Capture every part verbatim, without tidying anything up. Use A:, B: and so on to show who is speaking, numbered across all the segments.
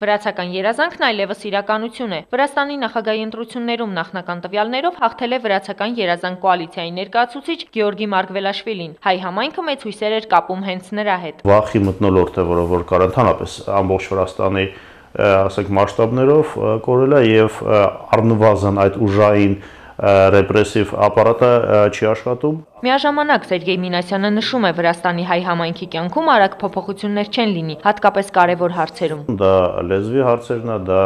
A: Վրացական երազանքն այլևս իրականություն է։ Վրաստանի նախագահի ընտրություններում նախնական տվյալներով հաղթել է վրացական երազանք կոալիցիայի ներկայացուցիչ Գեորգի Մարգվելաշվիլին։ Հայ համայնքը մեծ հույսեր էր կապում հենց նրա հետ։
B: Վախի մթնոլորտ է, որը որ կար ընդհանրապես ամբողջ Վրաստանի ասենք մասշտաբներով կորել է եւ առնվազն այդ ուժային ռեպրեսիվ ապարատը չի աշխատում։
A: Միաժամանակ Սերգեյ Մինասյանը նշում է, Վրաստանի հայ համայնքի կյանքում արագ փոփոխություններ չեն լինի, հատկապես կարևոր հարցերում։
B: Դա լեզվի հարցերն է, դա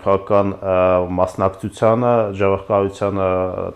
B: քաղաքական մասնակցությանը, ժողովրդավարությանը,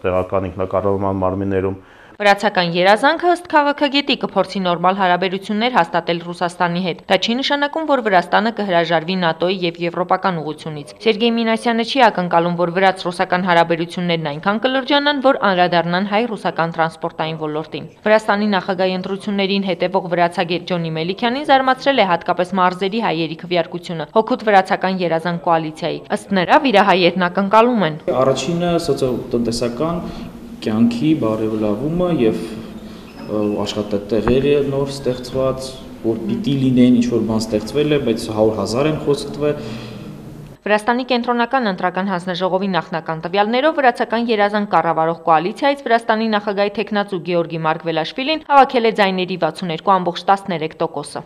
B: տեղական ինքնակառավարման մարմիններում։
A: Վրացական երազանքը ըստ քաղաքագետի կփորձի նորմալ հարաբերություններ հաստատել Ռուսաստանի հետ։ Դա չի նշանակում, որ Վրաստանը կհրաժարվի ՆԱՏՕ-ի եւ եվրոպական ուղղությունից։ Սերգեյ Մինասյանը չի ակնկալում, որ վրաց-ռուսական հարաբերություններն այնքան կլրջանան, որ անդրադառնան հայ-ռուսական տրանսպորտային ոլորտին։ Վրաստանի նախագահի ընտրություններին հետևող վրացագետ Ջոնի Մելիքյանին զարմացրել է հատկապես մարզերի հայերի քվեարկությունը հօգուտ վրացական երազանք կոալիցիայի։ Ըստ նրա, վիրահայերն ակնկալում են.
C: Առաջինը սոցիալ-տնտեսական կյանքի բարելավումը եւ աշխատատեղերը նոր ստեղծված, որ պիտի լինեն, ինչ որ բան ստեղծվել է, բայց հարյուր հազար են խոստվել։
A: Վրաստանի կենտրոնական ընտրական հանձնաժողովի նախնական տվյալներով վրացական երազանք կառավարող կոալիցիայից Վրաստանի նախագահի թեկնածու Գեորգի Մարգվելաշվիլին հավաքել է ձայների վաթսուն երկու տոկոս։